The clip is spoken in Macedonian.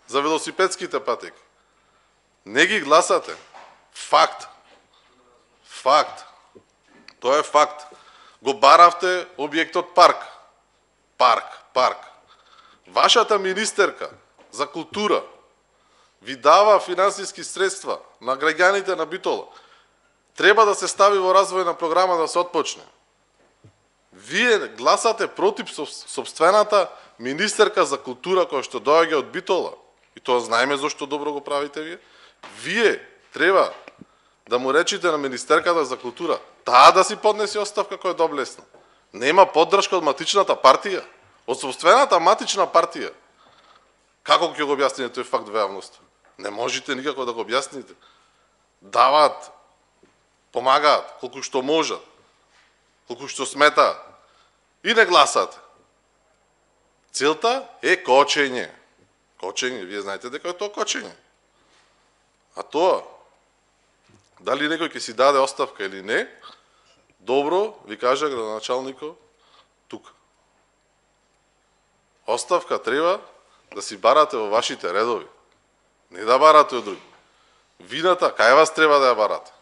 за велосипедските патеки. Не ги гласате. Факт. Факт. Тоа е факт. Го баравте објектот парк. Парк. Вашата министерка за култура ви дава финансиски средства на граѓаните на Битола. Треба да се стави во развојна програма да се отпочне. Вие гласате против собствената министерка за култура која што доаѓа од Битола. И тоа знаеме зашто добро го правите вие. Вие треба да му речите на министерката за култура таа да си поднесе оставка која е доблесна. Нема поддршка од матичната партија, од собствената матична партија. Како ќе го објасните тој факт во јавноста? Не можете никако да го објасните. Даваат, помагаат колку што можат, колку што сметаат и не гласате. Целта е кочење. Кочење, вие знаете дека е тоа кочење. А тоа, дали некој ќе си даде оставка или не, добро ви кажа градоначалникот тука. Оставка треба да си барате во вашите редови. Не да барате од други. Вината, кај вас треба да ја барате?